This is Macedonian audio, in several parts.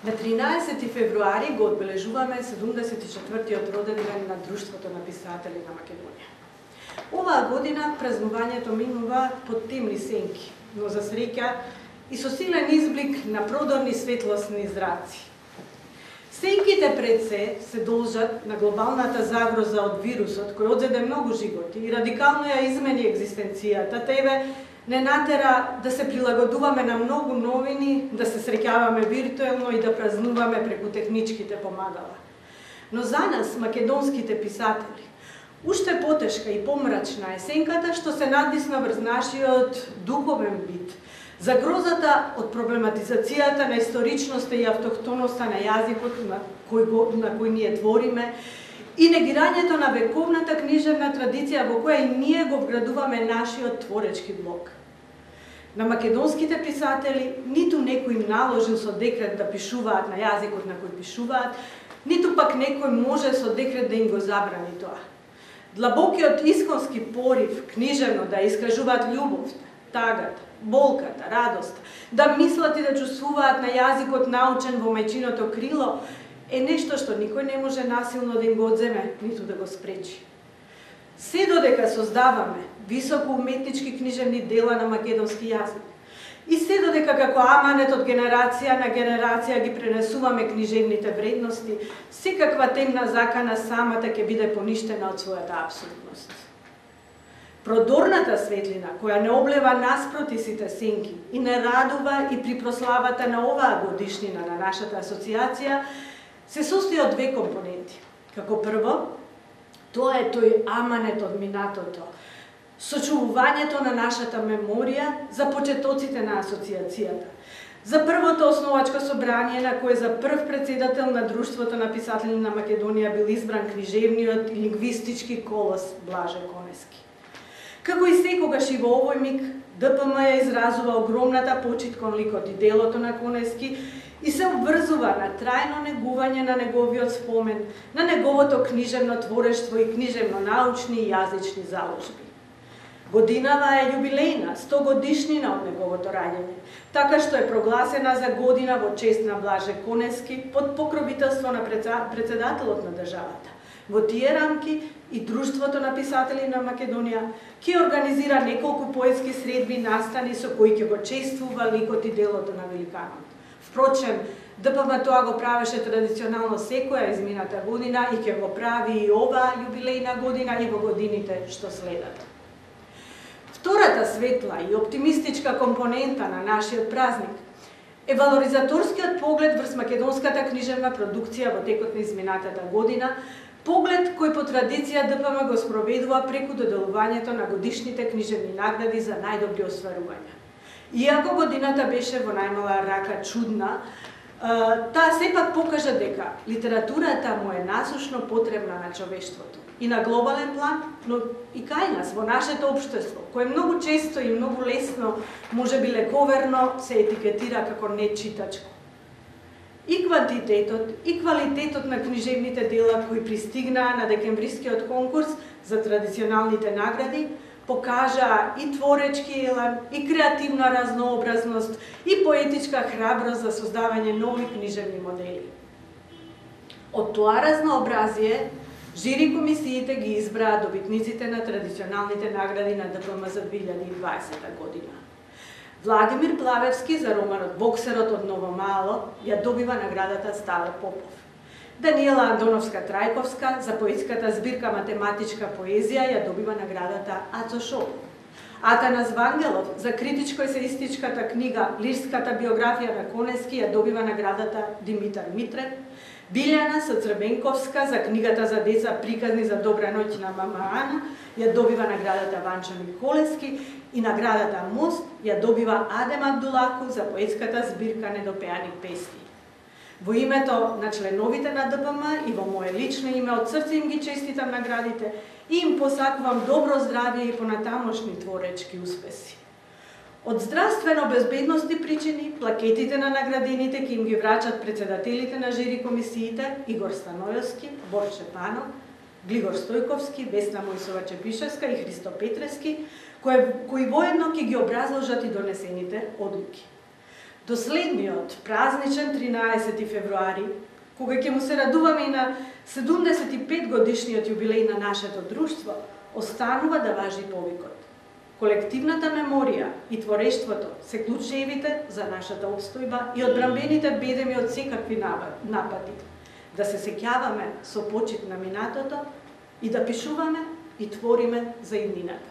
На 13 февруари го одбележуваме 74-тиот роден ден на Друштвото на писатели на Македонија. Оваа година празнувањето минува под темни сенки, но за среќа и со силен изблик на продорни светлосни зраци. Сенките пред се должат на глобалната загроза од вирусот кој одзеде многу животи и радикално ја измени екзистенцијата, тебе не натера да се прилагодуваме на многу новини, да се среќаваме виртуелно и да празнуваме преку техничките помагала. Но за нас, македонските писатели, уште потешка и помрачна е сенката што се надвисна врз нашиот духовен бит, загрозата од проблематизацијата на историчноста и автохтоноста на јазикот на кој ние твориме и негирањето на вековната книжевна традиција во која и ние го вградуваме нашиот творечки блок. На македонските писатели ниту некој им наложил со декрет да пишуваат на јазикот на кој пишуваат, ниту пак некој може со декрет да им го забрани тоа. Длабокиот исконски порив книжевно да искажуваат љубовта, тагата, болката, радоста, да мислат и да чувствуваат на јазикот научен во мајчиното крило, е нешто што никој не може насилно да им го одземе, ниту да го спречи. Се додека создаваме високо уметнички книжевни дела на македонски јазик и се додека како аманет од генерација на генерација ги пренесуваме книжевните вредности, секаква темна закана самата ќе биде поништена од својата апсурдност. Продорната светлина, која не облева наспроти сите сенки и не радува и при прославата на оваа годишнина на нашата асоциација, се состои од две компоненти. Како прво, тоа е тој аманет од минатото, сочувувањето на нашата меморија за почетоците на асоциацијата, за првото основачко собрание на кое за прв председател на Друштвото на писатели на Македонија бил избран книжевниот и лингвистички колос Блаже Конески. Како и секогаш и во овој миг, ДПМ ја изразува огромната почит кон ликот и делото на Конески и се обврзува на трајно негување на неговиот спомен, на неговото книжевно творештво и книжевно-научни и јазични заложби. Годинава е јубилејна, 100 годишнина од неговото раѓање, така што е прогласена за година во чест на Блаже Конески под покровителство на председателот на државата. Во тие рамки и Друштвото на писатели на Македонија ќе организира неколку поетски средби настани со кои ќе го чествува ликот и делото на великанот. Впрочем, ДПМ тоа го правеше традиционално секоја измината година и ќе го прави и оваа јубилејна година и во годините што следат. Втората светла и оптимистичка компонента на нашиот празник е валоризаторскиот поглед врз македонската книжевна продукција во текот на изминатата година, поглед кој по традиција ДПМ го спроведува преку доделувањето на годишните книжевни награди за најдобри остварувања. Иако годината беше во најмала рака чудна, таа сепак покажа дека литературата му е насушно потребна на човештвото и на глобален план, но и кај нас, во нашето општество, кое многу често и многу лесно, може би лековерно, се етикетира како нечитачко. И квантитетот, и квалитетот на книжевните дела кои пристигнаа на декемврискиот конкурс за традиционалните награди, покажаа и творечки елан, и креативна разнообразност, и поетичка храброст за создавање нови книжевни модели. Од тоа разнообразие, жири комисиите ги избраа добитниците на традиционалните награди на ДПМ за 2020 година. Владимир Плавевски за романот Боксерот од Ново Мало ја добива наградата Стале Попов. Даниела Андоновска-Трајковска за поетската збирка Математичка поезија ја добива наградата Ацо Шопов. Атанас Вангелов за критичко-есеистичката книга Лирската биографија на Конески ја добива наградата Димитар Митрев. Билјана Сацрбенковска за книгата за деца Приказни за добра ноќ на мама Ана ја добива наградата Ванчо Николевски и наградата Мост ја добива Адем Абдулаку за поетската збирка Недопеани песни. Во името на членовите на ДПМ и во мое лично име од срце им ги честитам наградите и им посакувам добро здравје и понатамошни творечки успеси. Од здравствено-безбедности причини, плакетите на наградените ќе им ги врачат председателите на жири комисиите Игор Станојовски, Борче Панов, Глигор Стојковски, Весна Мојсова Чепишевска и Христо Петревски, кои воедно ќе ги образложат и донесените одлуки. до следниот празничен 13 февруари, кога ќе му се радуваме и на 75 годишниот јубилеј на нашето друштво, останува да важи повикот. Колективната меморија и творештвото се клучевите за нашата обстојба и одбранбените бедеми од секакви напади. Да се сеќаваме со почит на минатото и да пишуваме и твориме за иднината.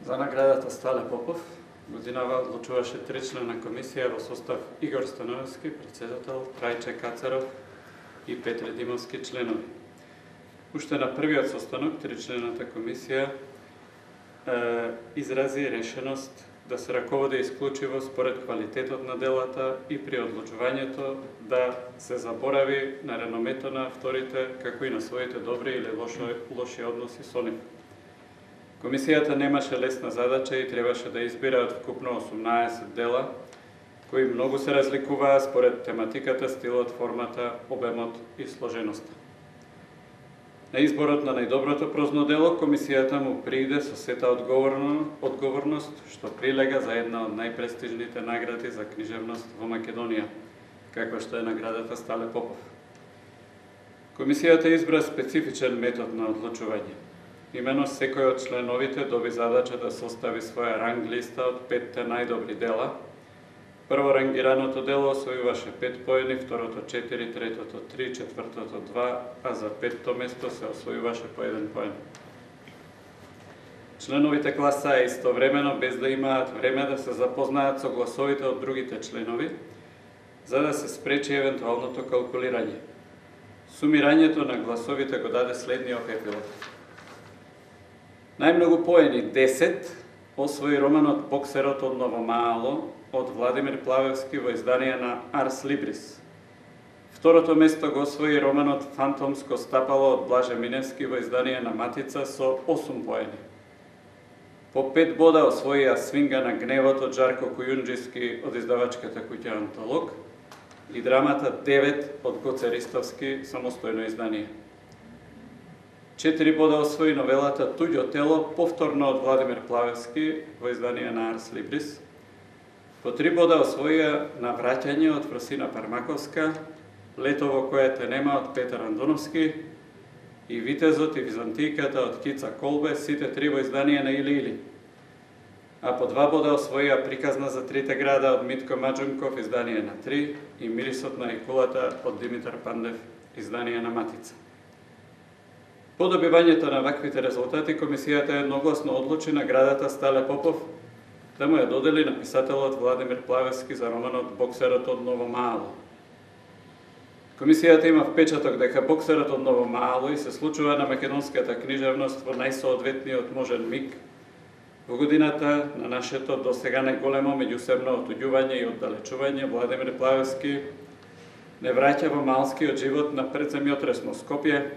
За наградата Стале Попов годинава одлучуваше 3-члена комисија во состав Игор Становски, председател, Трајче Кацаров и Петре Димовски членови. Уште на првиот состанок 3-члената комисија изрази решеност да се раководи исклучиво според квалитетот на делата и при одлучувањето да се заборави на реномето на авторите, како и на своите добри или лоши односи со нив. Комисијата немаше лесна задача и требаше да избира од вкупно 18 дела, кои многу се разликуваа според тематиката, стилот, формата, обемот и сложеноста. На изборот на најдоброто прозно дело, комисијата му прииде со сета одговорност, што прилега за една од најпрестижните награди за книжевност во Македонија, каква што е наградата Стале Попов. Комисијата избра специфичен метод на одлучување. Имено секој од членовите доби задача да состави своја ранг листа од 5 најдобри дела. Прво рангираното дело освојуваше 5 поени, второто 4, третото 3, четвртото 2, а за 5-то место се освојуваше по 1 поен. Членовите гласаа истовремено без да имаат време да се запознаат со гласовите од другите членови, за да се спречи евентуалното калкулирање. Сумирањето на гласовите го даде следниот епилог. Најмногу поени 10 освои романот Боксерот од Ново Маало од Владимир Плавевски во издание на Арс Либрис. Второто место го освои романот Фантомско стапало од Блаже Миневски во издание на Матица со 8 поени. По 5 бода освоија Свинга на гневот од Жарко Кујунџиски од издавачката куќа Антолог и драмата 9 од Гоце Ристовски самостојно издание. 4 бода освои новелата Туѓо тело, повторно од Владимир Плавевски во издание на Арс Либрис. По 3 бода освоија Навраќање од Фросина Пармаковска, Лето во кое те нема од Петар Андоновски и Витезот и Византијката од Кица Колбе, сите 3 во издание на Или Или. А по 2 бода освоија Приказна за трите града од Митко Маџунков, издание на 3 и Мирисот на рекулата од Димитар Пандев, издание на Матица. По добивањето на ваквите резултати, комисијата едногласно одлучи наградата Стале Попов да му ја додели на писателот Владимир Плавевски за романот Боксерот од Ново Маало. Комисијата има впечаток дека Боксерот од Ново Маало и се случува на македонската книжевност во најсоодветниот можен миг во годината на нашето досега најголемо меѓусебно отуѓување и оддалечување. Владимир Плавевски не враќа во малскиот живот на предземјотрес во Скопје,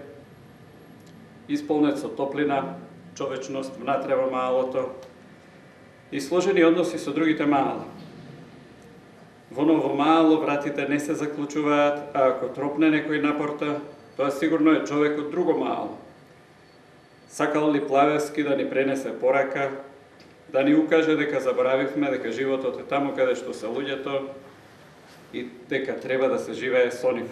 исполнет со топлина, човечност внатре во маалото и сложени односи со другите маала. Во Ново Маало вратите не се заклучуваат, а ако тропне некој напорта, тоа сигурно е човек од друго маало. Сакал ли Плавевски да ни пренесе порака, да ни укаже дека заборавивме дека животот е таму каде што се луѓето и дека треба да се живее со нив.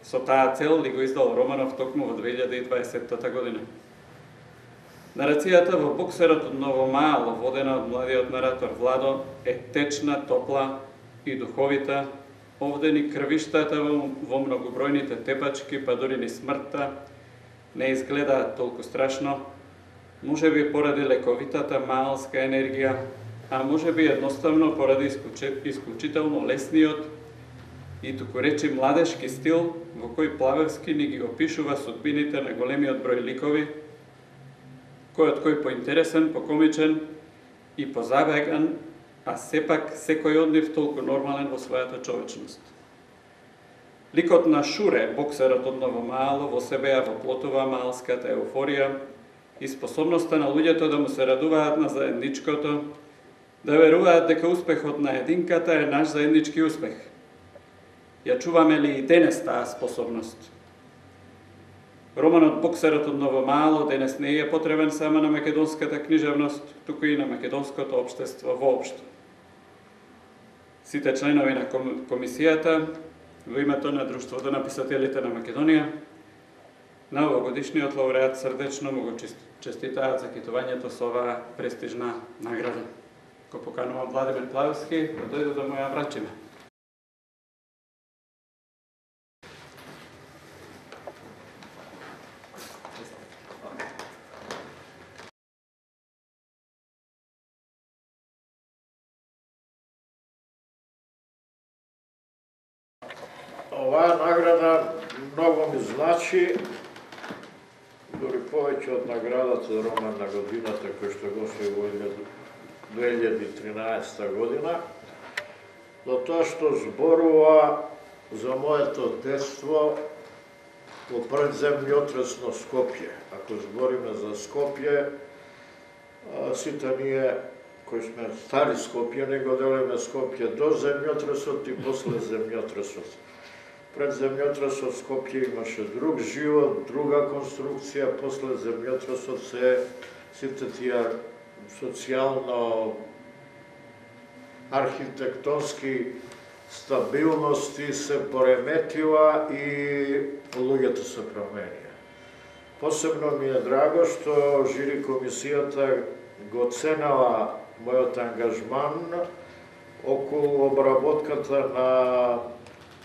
Со таа цел ли го издал романов токму во 2020 година. Нарацијата во Боксерот од Ново Маало, водена од младиот наратор Владо, е течна, топла и духовита. Овде ни крвиштата во многобројните тепачки, па дури ни смртта, не изгледаат толку страшно. Може би поради лековитата маалска енергија, а може би едноставно поради исклучително лесниот и туку речи младешки стил во кој Плавевски ни ги опишува судбините на големиот број ликови, кој поинтересен, покомичен и позабеган, а сепак секој од нив толку нормален во својата човечност. Ликот на Шуре, Боксерот од Ново Маало, во себе ја воплотува маалската еуфорија и способноста на луѓето да му се радуваат на заедничкото, да веруваат дека успехот на единката е наш заеднички успех. Ја чуваме ли и денес таа способност? Романот Боксерот од Ново Маало денес не е потребен само на македонската книжевност, туку и на македонското општество воопшто. сите членови на комисијата, во името на Друштвото на писателите на Македонија, на овогодишниот лауреат срдечно му го честитаат за китувањето со оваа престижна награда. Го поканувам Владимир Плавски да дојде да му ја врачиме. Оваа награда многу ми значи, дури повеќе од наградата за роман на годината кој што го освои во 2013 година, затоа што зборува за моето детство во предземјотресно Скопје. Ако збориме за Скопје, сите ние кои сме стари Скопје, не го делиме Скопје до земјотресот и после земјотресот. Пред земјотресот Скопје имаше друг живот, друга конструкција, после земјотресот сите тие социјално архитектонски стабилности се пореметила и луѓето се променија. Посебно ми е драго што жири комисијата го ценела мојот ангажман околу обработката на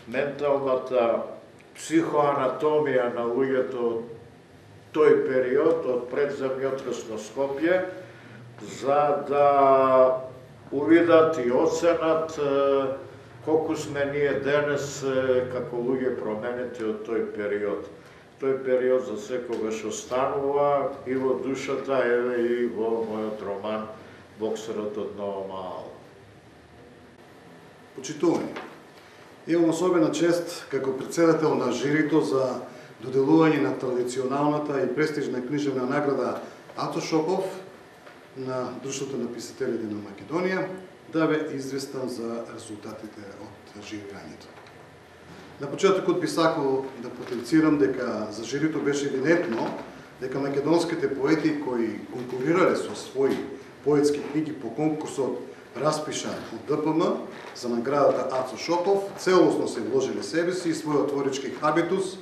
менталната психоанатомија на луѓето од тој период, од предземјотресно Скопје, за да увидат и оценат колку сме ние денес како луѓе променети од тој период. Тој период за секогаш останува и во душата, еве и во мојот роман Боксерот од Ново Маало. Почитувани, имам особена чест како председател на жирито за доделување на традиционалната и престижна книжевна награда Ато Шопов на Друштвото на писателите на Македонија да ве известам за резултатите од жирирањето. На почетокот би сакал да потенцирам дека за жирито беше евидентно дека македонските поети кои конкурирале со своји поетски книги по конкурсот распишан од ДПМ за наградата Ацо Шопов, целосно се вложили себе си и својот творички хабитус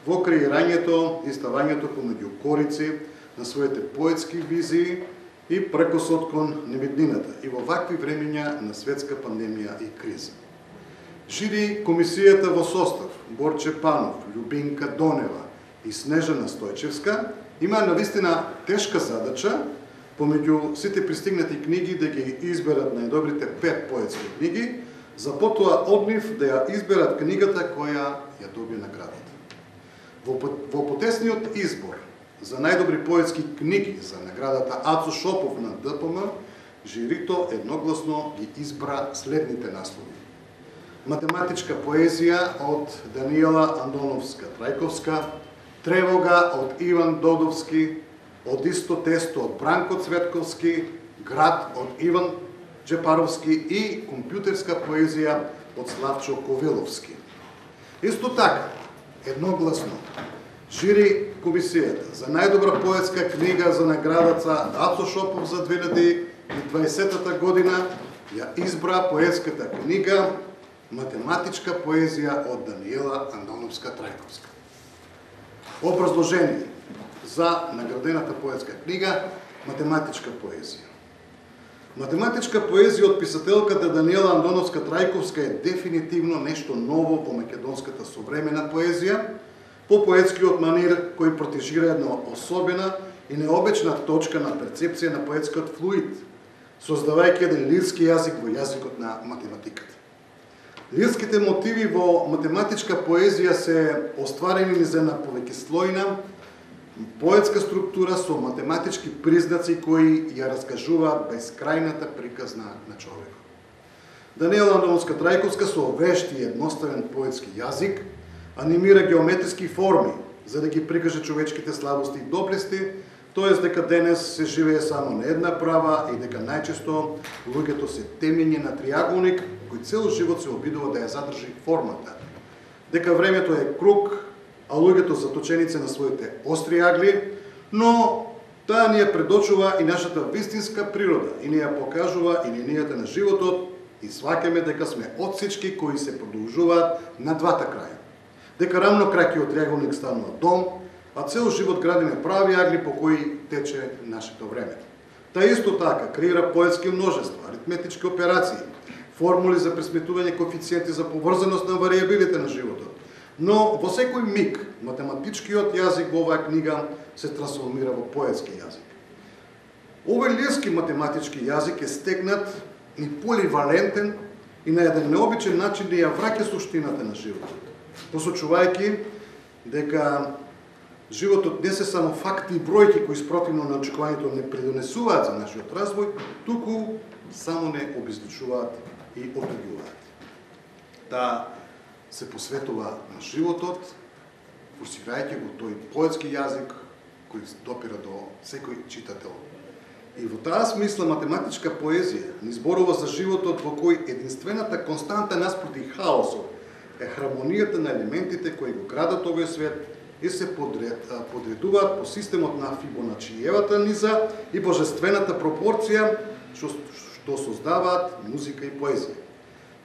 во креирањето и ставањето помеѓу корици на своите поетски визии и прекосот кон невиднината и во вакви времења на светска пандемија и криза. Жири комисијата во состав Борче Панов, Љубинка Донева и Снежана Стојчевска има навистина тешка задача помеѓу сите пристигнати книги да ги изберат најдобрите 5 поетски книги, за потоа од нив да ја изберат книгата која ја доби наградата. Во потесниот избор за најдобри поетски книги за наградата Ацо Шопов на ДПМ, жирито едногласно ги избра следните наслови. Математичка поезија од Даниела Андоновска-Трајковска, Тревога од Иван Додовски, Од исто тесто од Бранко Цветковски, Град од Иван Джепаровски и компјутерска поезија од Славчо Ковиловски. Исто така, едногласно, жири комисијата за најдобра поетска книга за наградата Ацо Шопов за 2020 година ја избра поетската книга Математичка поезија од Даниела Андоновска-Трајковска. Образложение за наградената поетска книга Математичка поезија. Математичка поезија од писателката Даниела Андоновска-Трајковска е дефинитивно нешто ново во македонската современа поезија, по поетскиот манир кој протежира една особена и необична точка на перцепција на поетскиот флуид, создавајќи еден лирски јазик во јазикот на математиката. Лирските мотиви во математичка поезија се остварени низ една повеќеслојна поетска структура со математички признаци кои ја раскажуваат бескрајната приказна на човекот. Даниела Андоновска-Трајковска со вешт и едноставен поетски јазик анимира геометриски форми за да ги прикаже човечките слабости и доблести, тоест дека денес се живее само на една права и дека најчесто луѓето се темење на триаголник кој цел живот се обидува да ја задржи формата. Дека времето е круг, а луѓето заточеници на своите остри агли, но таа ни ја предочува и нашата вистинска природа и ни ја покажува и линијата на животот и сваќаме дека сме отсечки кои се продолжуваат на двата краја. Дека рамно краќиот триаголник станува дом, а цел живот градиме прави агли по кои тече нашето време. Та исто така креира поетски множества, аритметички операции, формули за пресметување коефициенти за поврзаност на варијабилите на животот. Но во секој миг математичкиот јазик во оваа книга се трансформира во поетски јазик. Овој лирски математички јазик е стегнат и поливалентен и на еден необичен начин да ја враќа суштината на животот, посочувајќи дека животот не се само факти и бројки кои спротивно на очекувањето не придонесуваат за нашиот развој, туку само не обезличуваат и отуѓуваат. Да се посветува на животот, форсирајќи го тој поетски јазик кој допира до секој читател. И во таа смисла математичка поезија ни зборува за животот во кој единствената константа наспроти хаосот е хармонијата на елементите кои го градат овој свет и се подредуваат по системот на Фибоначиевата низа и божествената пропорција што создаваат музика и поезија.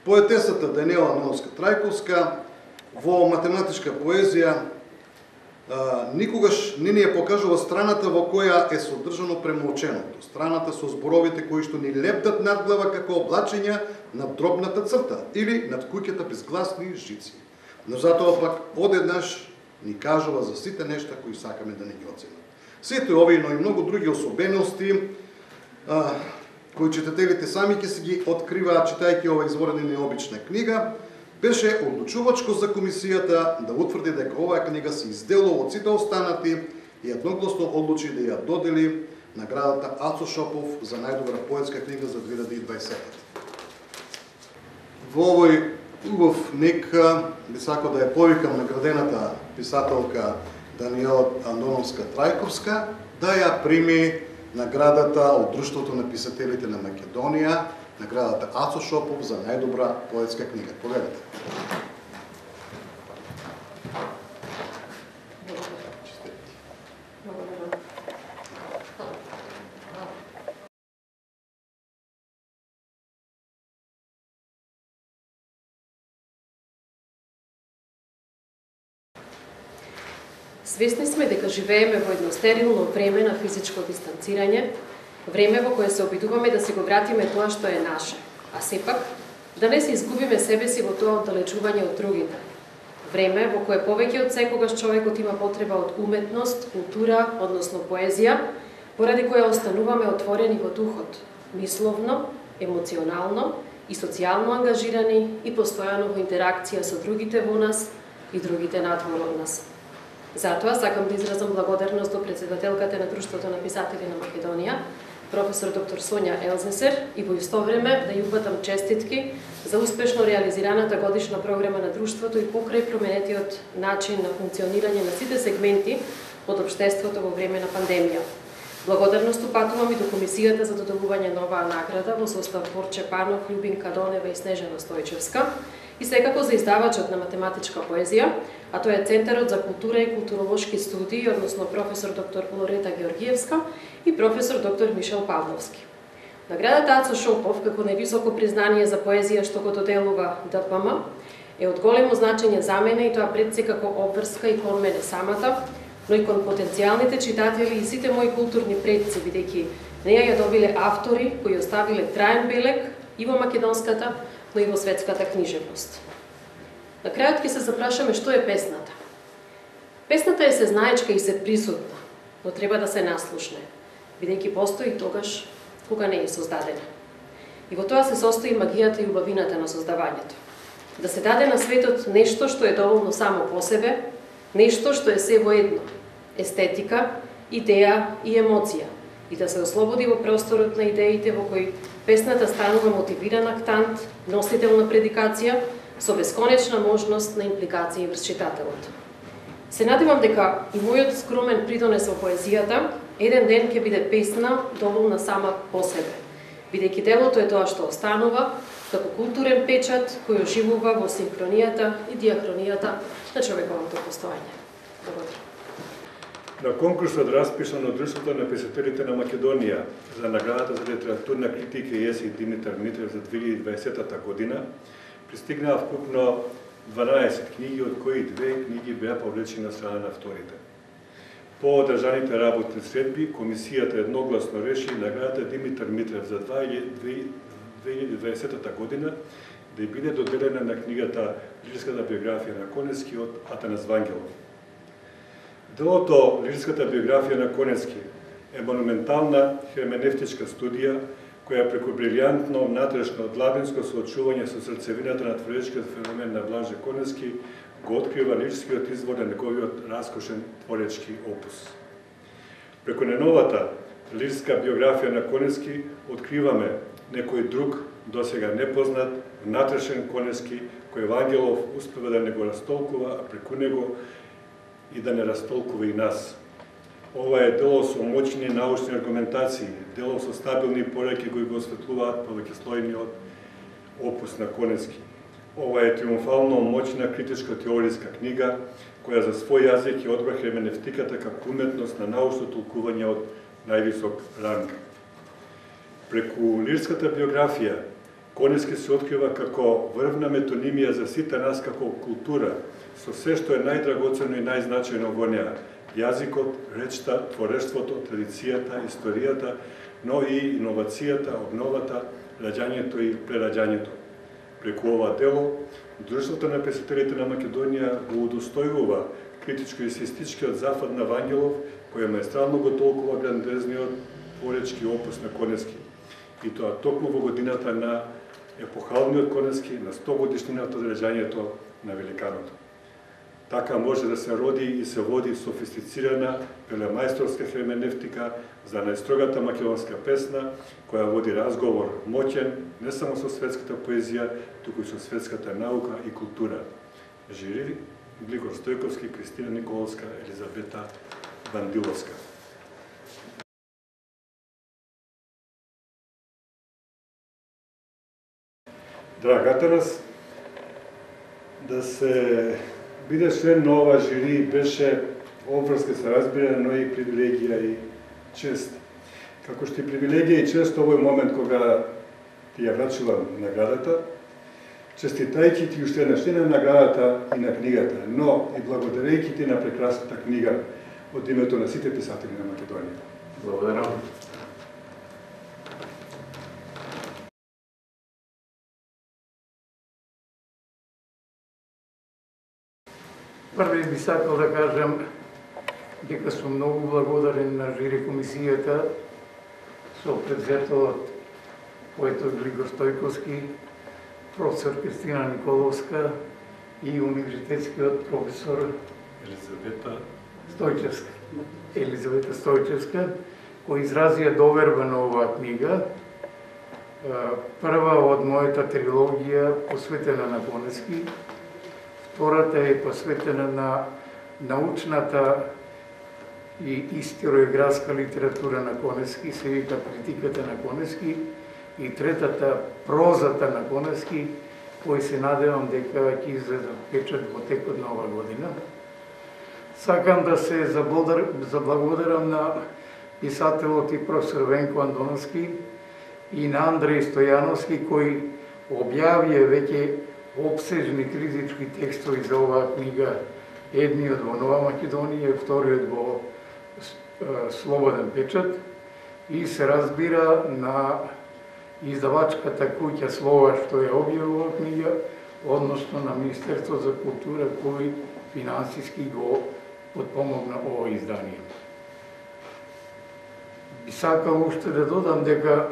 Поетесата Даниела Ноновска-Трајковска во математичка поезија никогаш не ни ја покажува страната во која е содржано премолченото, страната со зборовите кои што ни лептат надглава како облачења над дробната црта или над куќата без гласни жици. Но затоа пак одеднаш ни кажува за сите нешта кои сакаме да не ги оценат. Сите овие, но и многу други особености кои читателите сами ќе се ги откриваат читајќи ова изворена и необична книга, беше одлучувачко за комисијата да утврди дека оваа книга се изделува од сите останати и едногласно одлучи да ја додели наградата Ацо Шопов за најдобра поетска книга за 2020. Во овој убав миг би сакал да ја повикам наградената писателка Даниела Андоновска-Трајковска да ја прими наградата од Друштвото на писателите на Македонија, наградата Ацо Шопов за најдобра поетска книга. Повелете. Свесни сме дека живееме во едно стерилно време на физичко дистанцирање, време во кое се обидуваме да си го вратиме тоа што е наше, а сепак да не се изгубиме себе си во тоа оддалечување од другите. Време во кое повеќе од секогаш човекот има потреба од уметност, култура, односно поезија, поради која остануваме отворени во духот, мисловно, емоционално и социјално ангажирани и постојано во интеракција со другите во нас и другите надвор од нас. Затоа сакам да изразам благодарност до председателката на Друштвото на писатели на Македонија, професор доктор Сонја Елзесер, и во исто време да ја упатам честитки за успешно реализираната годишна програма на Друштвото и покрај променетиот начин на функционирање на сите сегменти од општеството во време на пандемија. Благодарност упатувам и до Комисијата за доделување на оваа награда во состав Борче Панов, Љубинка Донева и Снежана Стојчевска, и секако за издавачот на математичка поезија, а тоа е Центарот за култура и културолошки студии, односно професор доктор Лорета Георгиевска и професор доктор Мишел Павловски. Наградата Ацо Шопов, како највисоко признание за поезија што го доделува ДПМ, е од големо значење за мене и тоа пред се како обврска и кон мене самата, но и кон потенцијалните читатели и сите мои културни предци, бидејќи неја ја добиле автори кои оставиле траен белег и во македонската, но и во светската книжевност. На крајот ќе се запрашаме што е песната. Песната е сезнаечка и се присутна, но треба да се наслушне, бидејќи постои тогаш кога не е создадена. И во тоа се состои магијата и убавината на создавањето. Да се даде на светот нешто што е доволно само по себе, нешто што е се во едно, естетика, идеја и емоција, и да се ослободи во просторот на идеите во кој песната станува мотивиран актант, носител на предикација, со бесконечна можност на импликација врз читателот. Се надевам дека и мојот скромен придонес во поезијата еден ден ќе биде песна доволна сама по себе, бидејќи делото е тоа што останува како културен печат кој оживува во синхронијата и диахронијата на човековото постоење. Благодарам. На конкурсот распишан од Друштвото на писателите на Македонија за наградата за литературна критика и есеј Димитар Митрев за 2020 година пристигнаа вкупно 12 книги, од кои 2 книги беа повлечени на страна на авторите. По одржаните работни средби, комисијата едногласно реши наградата Димитар Митрев за 2020 година да биде доделена на книгата Лирската биографија на Конески од Атанас Вангелов. Делото Лирската биографија на Конески е монументална херменевтичка студија која преку брилјантно, внатрешно, длабинско соочување со срцевината на творечкиот феномен на Блаже Конески го открива лирскиот извор на неговиот раскошен творечки опус. Преку неновата лирска биографија на Конески откриваме некој друг, досега непознат, внатрешен Конески, кој Вангелов успева да не го растолкува, а преку него и да не растолкува и нас. Ова е дело со моќни научни аргументации, дело со стабилни пореки кои го осветлуваат повеќеслојниот опус на Конески. Ова е триумфално моќна критичка теориска книга, која за свој јазик ја одбра херменевтиката како уметност на научно толкување од највисок ранг. Преку лирската биографија, Конески се открива како врвна метонимија за сите нас како култура, со се што е најдрагоцено и најзначајно во неа: јазикот, речта, творештвото, традицијата, историјата, но и иновацијата, обновата, раѓањето и прераѓањето. Преку ова дело, Друштвото на писателите на Македонија го удостојува критичко-есеистичкиот зафат на Вангелов, кој маестрално го толкува грандезниот творечки опус на Конески. И тоа токму во годината на епохалниот Конески, на 100 годишнината од раѓањето на великаното. Така може да се роди и се води софистицирана велемајсторска херменевтика за најстрогата македонска песна, која води разговор моќен не само со светската поезија, туку и со светската наука и култура. Жири Глигор Стојковски, Кристина Николовска, Елизабета Бандиловска. Драгата нас да се биде член на ова жири беше обврска се разбира, но и привилегија и чест. Како што и привилегија и чест овој момент кога ти ја врачувам наградата, честитајќи ти уште еднаш на наградата и на книгата, но и благодарејќи ти на прекрасната книга од името на сите писатели на Македонија. Благодарам. Први би сакал да кажам дека сум многу благодарен на жири комисијата со предзето од поетот Глигор Стојковски, професор Кристина Николовска и универзитетскиот професор Елизавета Стојчевска, кои изразија доверба на оваа книга, прва од мојата трилогија посветена на Конески. Втората е посветена на научната и историографска литература на Конески, се вика Критиката на Конески, и третата прозата на Конески, кој се надевам дека ќе излезе печат во текот на ова година. Сакам да се заблагодарам на писателот и професор Венко Андоновски и на Андреј Стојановски, кои објавија веќе обсежни критички текстови за оваа книга, едниот во Нова Македонија, вториот во Слободен печат, и се разбира на издавачката куќа Слова што ја објавила оваа книга, односно на Министерство за култура кој финансиски го подпомогна ова издание. Би сакал уште да додам дека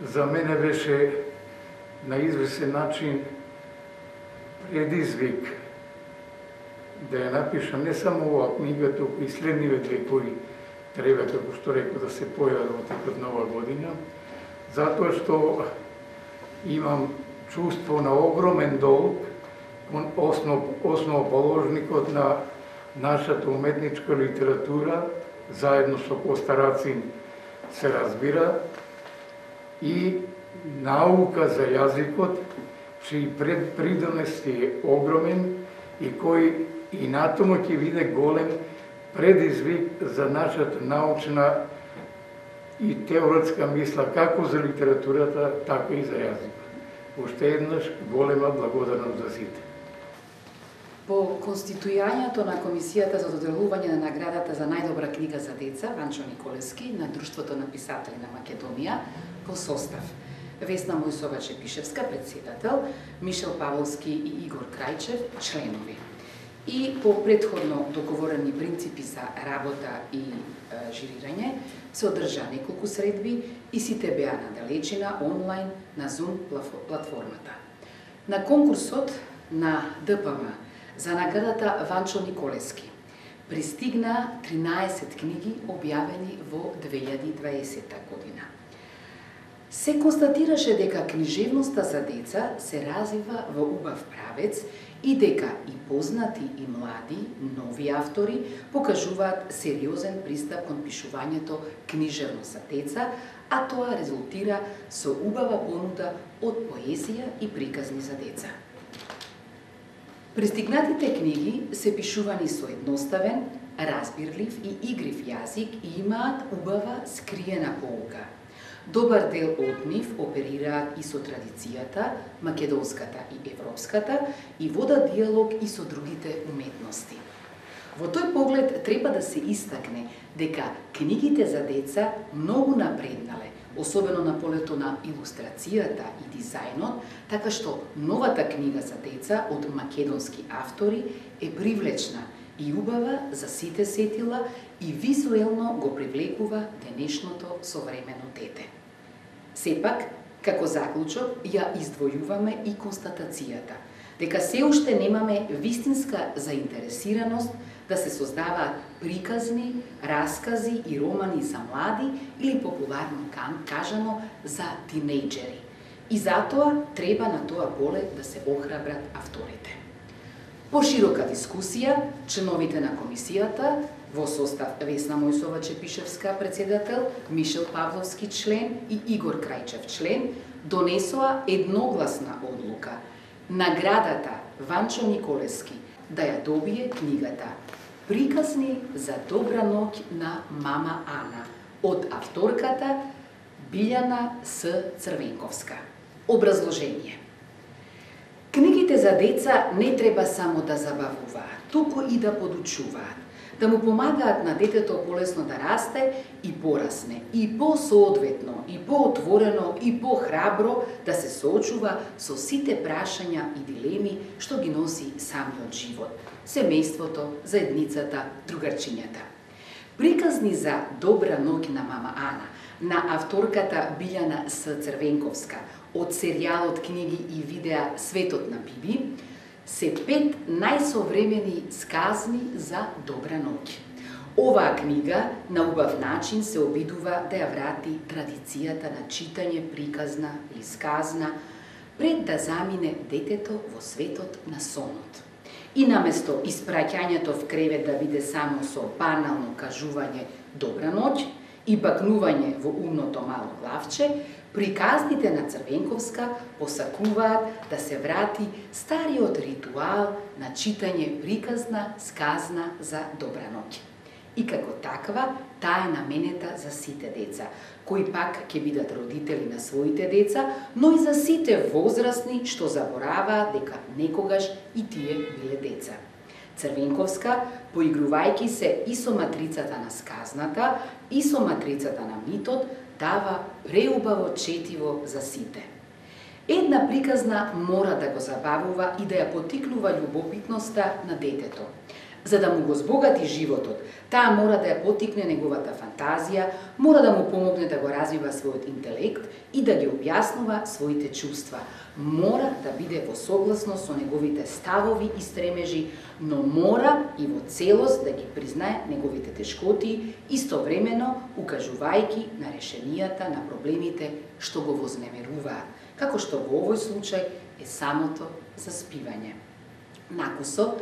за мене беше на известен начин предизвик да ја напишам не само оваа книга, туку и следниве две кои треба, како што реков, да се појават во текот на оваа година, затоа што имам чувство на огромен долг кон основоположникот на нашата уметничка литература, заедно со Коста Рацин се разбира, и наука за јазикот, чиј придонес е огромен и кој и натаму ќе биде голем предизвик за нашата научна и теоретска мисла, како за литературата, така и за јазикот. Уште еднаш голема благодарност за сите. По конституирањето на Комисијата за доделување на наградата за најдобра книга за деца Ванчо Николевски на Друштвото на писатели на Македонија по состав Весна Мојсова-Чепишевска, председател, Мишел Павловски и Игор Крајчев, членови. И по предходно договорени принципи за работа и жирирање се одржа неколку средби и сите беа на далечина, онлайн, на Zoom платформата. На конкурсот на ДПМ за наградата Ванчо Николевски пристигна 13 книги објавени во 2020 година. Се констатираше дека книжевноста за деца се развива во убав правец и дека и познати и млади, нови автори покажуваат сериозен пристап кон пишувањето книжевно за деца, а тоа резултира со убава понуда од поезија и приказни за деца. Пристигнатите книги се пишувани со едноставен, разбирлив и игрив јазик и имаат убава скриена поука. Добар дел од нив оперираат и со традицијата, македонската и европската, и водат диалог и со другите уметности. Во тој поглед треба да се истакне дека книгите за деца многу напреднале, особено на полето на илустрацијата и дизајнот, така што новата книга за деца од македонски автори е привлечна и убава за сите сетила и визуелно го привлекува денешното современо дете. Сепак, како заклучок, ја издвојуваме и констатацијата дека се уште немаме вистинска заинтересираност да се создаваат приказни, раскази и романи за млади или популарно кажано за тинејџери. И затоа треба на тоа поле да се охрабрат авторите. Поширока дискусија, членовите на комисијата во состав Весна Мојсова-Чепишевска, председател, Мишел Павловски, член и Игор Крајчев, член, донесоа едногласна одлука наградата Ванчо Николевски да ја добие книгата Приказни за добра ноќ на мама Ана од авторката Билјана С. Црвенковска. Образложение. Книгите за деца не треба само да забавуваат, туку и да подучуваат, да му помагаат на детето полесно да расте и порасне, и посоодветно, и поотворено, и похрабро да се соочува со сите прашања и дилеми што ги носи самиот живот, семејството, заедницата, другарчињата. Приказни за добра ноќ на мама Ана на авторката Билјана С. Црвенковска од серијалот книги и видеа Светот на Биби се 5 најсовремени сказни за добра ноќ. Оваа книга на убав начин се обидува да ја врати традицијата на читање приказна или сказна пред да замине детето во светот на сонот. И наместо испраќањето в кревет да биде само со банално кажување добра ноќ и бакнување во умното мало главче, приказните на Црвенковска посакуваат да се врати стариот ритуал на читање приказна сказна за добра ноќ. И како таква, таа е наменета за сите деца, кои пак ќе бидат родители на своите деца, но и за сите возрастни што забораваат дека некогаш и тие биле деца. Црвенковска, поигрувајќи се и со матрицата на сказната, и со матрицата на митот, дава преубаво четиво за сите. Една приказна мора да го забавува и да ја потикнува љубопитноста на детето. За да му го збогати животот, таа мора да ја потикне неговата фантазија, мора да му помогне да го развива својот интелект и да ги објаснува своите чувства. Мора да биде во согласност со неговите ставови и стремежи, но мора и во целост да ги признае неговите тешкоти, истовремено укажувајќи на решенијата на проблемите што го вознемеруваат, како што во овој случај е самото заспивање. Накусо,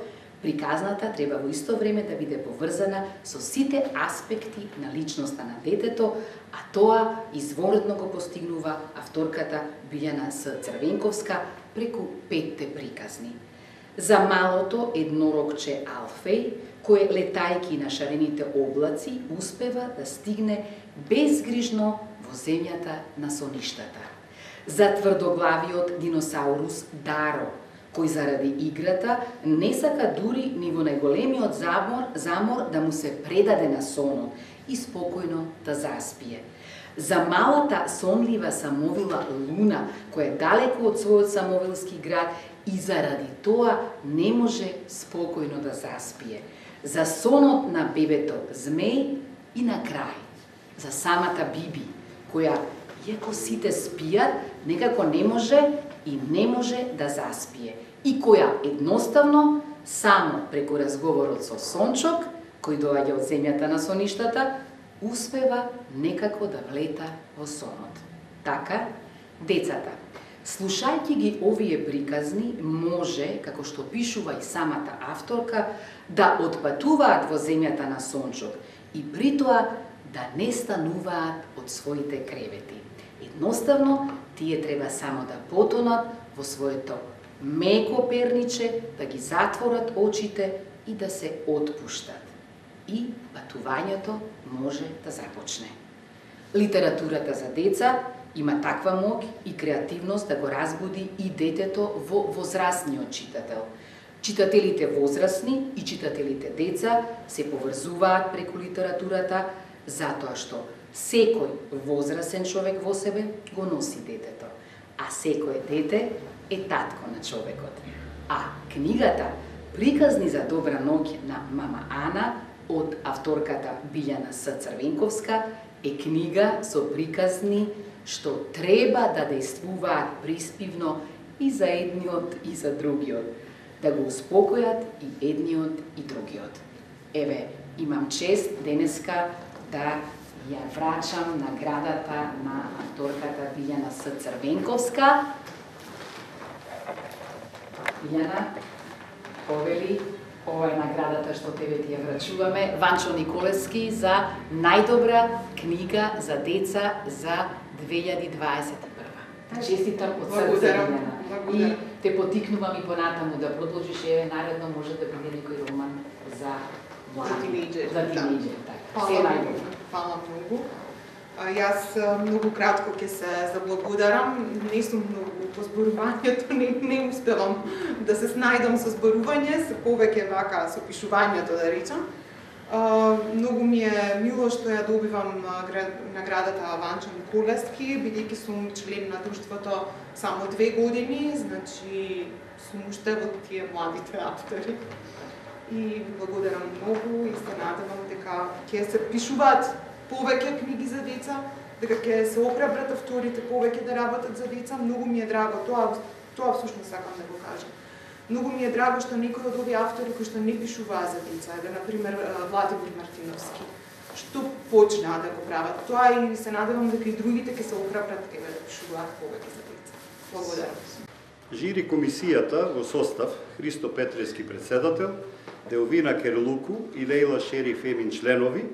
приказната треба во исто време да биде поврзана со сите аспекти на личноста на детето, а тоа изворедно го постигнува авторката Билјана С. Црвенковска преку 5 приказни. За малото еднорогче Алфеј, кој летајки на шарените облаци успева да стигне безгрижно во земјата на соништата. За тврдоглавиот диносаурус Даро, кој заради играта не сака дури ни во најголемиот замор да му се предаде на сонот и спокојно да заспие. За малата сонлива самовила Луна, која е далеко од својот самовилски град и заради тоа не може спокојно да заспие. За сонот на бебето Змеј и на крај, за самата Биби, која, иако сите спијат, некако не може и не може да заспие. И која едноставно, само преку разговорот со Сончок, кој доаѓа од земјата на соништата, успева некако да влета во сонот. Така, децата, слушајќи ги овие приказни, може, како што пишува и самата авторка, да отпатуваат во земјата на Сончок и притоа да не стануваат од своите кревети. Едноставно, тие треба само да потонат во своето меко перниче, да ги затворат очите и да се отпуштат. И патувањето може да започне. Литературата за деца има таква моќ и креативност да го разбуди и детето во возрастниот читател. Читателите возрастни и читателите деца се поврзуваат преку литературата, затоа што секој возрастен човек во себе го носи детето, а секој дете е татко на човекот. А книгата Приказни за добра ноќ на мама Ана од авторката Билјана С. Црвенковска е книга со приказни што треба да дејствуваат приспивно и за едниот и за другиот, да го успокојат и едниот и другиот. Еве, имам чест денеска да ја врачам наградата на авторката Билјана С. Црвенковска. Билјана, повели, ова е наградата што тебе ти ја врачуваме, Ванчо Николевски за најдобра книга за деца за 2021. Честитам од срце, Билјана. И те потикнувам и понатаму да продолжиш, еве наредно може да биде некој роман за тинејџери. За тинејџери, така. Се најдобро. Фала многу. Јас многу кратко ќе се заблагодарам. Не сум многу по зборувањето, не успевам да се снајдам со зборување, се повеќе вака со пишувањето, да речам. Многу ми е мило што ја добивам наградата Ванчо Николевски, бидејќи сум член на друштвото само 2 години, значи сум уште во тие младите автори. И ви благодарам многу и се надевам дека ќе се пишуваат повеќе книги за деца, дека ќе се охрабрат авторите повеќе да работат за деца. Многу ми е драго, тоа всушност сакам да го кажам. Многу ми е драго што некои од овие автори кои што не пишуваа за деца, еве например Владимир Мартиновски, што почнаа да го прават тоа и се надевам дека и другите ќе се охрабрат еве да пишуваат повеќе за деца. Благодарам. Жири комисијата во состав Христо Петревски председател, Делвина Керлуку и Лејла Шериф Емин членови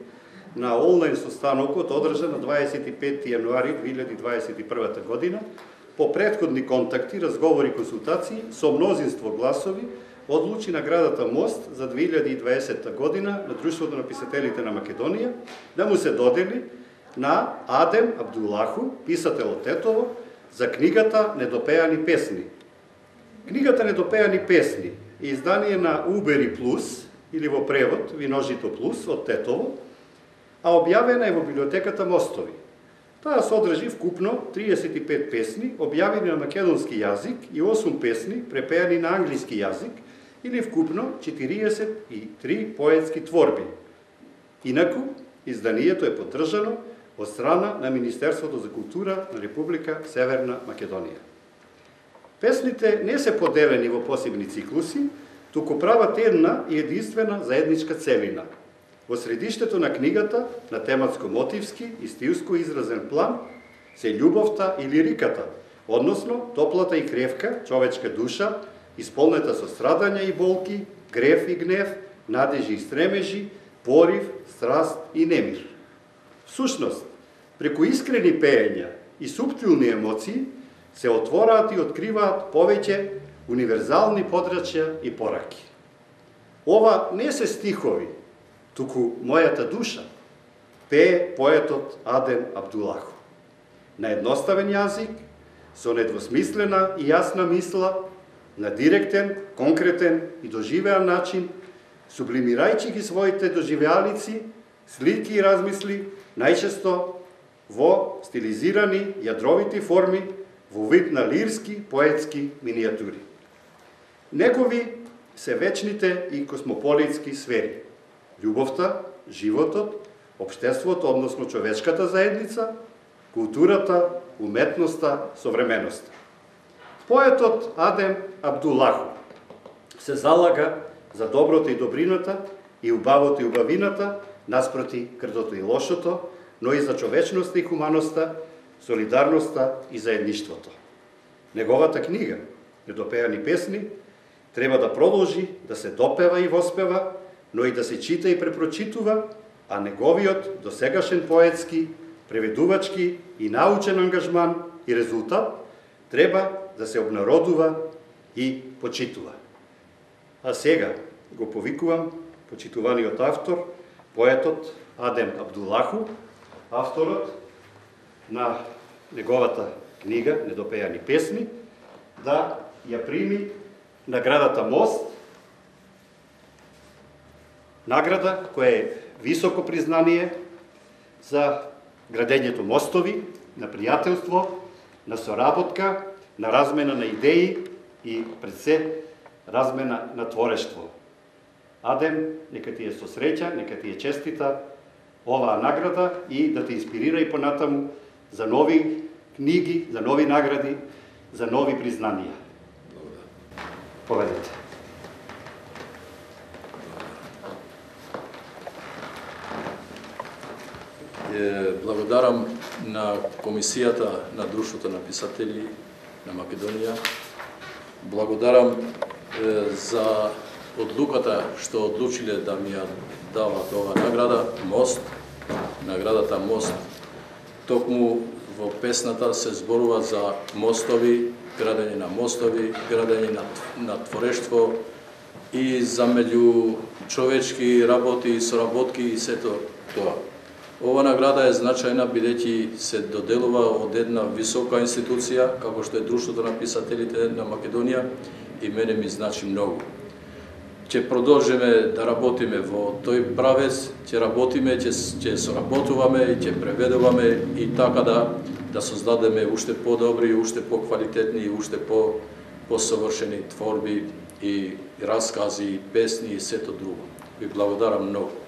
на онлайн состанокот одржан на 25 јануари 2021 година, по претходни контакти, разговори и консултации со мнозинство гласови, одлучи наградата Мост за 2020 година на Друштвото на писателите на Македонија да му се додели на Адем Абдулаху, писател од Тетово, за книгата Недопеани песни. Книгата Недопеани песни е издание на Убери Плюс, или во превод Виножито Плюс од Тетово, а објавена е во библиотеката Мостови. Таа содржи вкупно 35 песни, објавени на македонски јазик и 8 песни, препеани на англиски јазик, или вкупно 43 поетски творби. Инаку, изданието е поддржано од страна на Министерството за култура на Република Северна Македонија. Песните не се поделени во посебни циклуси, туку прават една и единствена заедничка целина. Во средиштето на книгата, на тематско-мотивски и стилско изразен план, се љубовта и лириката, односно топлата и кревка човечка душа, исполнета со страдања и болки, грев и гнев, надежи и стремежи, порив, страст и немир. Всушност, преку искрени пеења и суптилни емоции, се отвораат и откриваат повеќе универзални подрачја и пораки. Ова не се стихови, туку мојата душа, пее поетот Адем Абдулаху. На едноставен јазик, со недвосмислена и јасна мисла, на директен, конкретен и доживеан начин, сублимирајќи ги своите доживеалици, слики и размисли, најчесто во стилизирани јадровити форми, во вид на лирски, поетски минијатури. Негови се вечните и космополитски сфери. Љубовта, животот, општеството, односно човечката заедница, културата, уметноста, современоста. Поетот Адем Абдулаху се залага за доброто и добрината, и убавото и убавината, наспроти крдото и лошото, но и за човечноста и хуманоста, солидарноста и заедништвото. Неговата книга, Недопеани песни, треба да продолжи да се допева и воспева, но и да се чита и препрочитува, а неговиот досегашен поетски, преведувачки и научен ангажман и резултат треба да се обнародува и почитува. А сега го повикувам почитуваниот автор, поетот Адем Абдулаху, авторот на неговата книга Недопеани песни, да ја прими наградата Мост, награда која е високо признание за градењето мостови, на пријателство, на соработка, на размена на идеи и пред се размена на творештво. Адем, нека ти е со среќа, нека ти е честита оваа награда и да те инспирира и понатаму за нови книги, за нови награди, за нови признанија. Поведете. Благодарам на Комисијата на Друштвото на писатели на Македонија. Благодарам за одлуката што одлучиле да ми ја дават оваа награда Мост. Наградата Мост. Токму во песната се зборува за мостови, градење на мостови, градење на творештво и за меѓу човечки работи и соработки и сето тоа. Ова награда е значајна бидејќи се доделува од една висока институција, како што е Друштвото на писателите на Македонија, и мене ми значи многу. Ќе продолжиме да работиме во тој правец, ќе работиме, ќе соработуваме и ќе преведуваме и така да создадеме уште подобри, уште поквалитетни и уште посовршени творби и раскази, и песни и сето друго. Ви благодарам многу.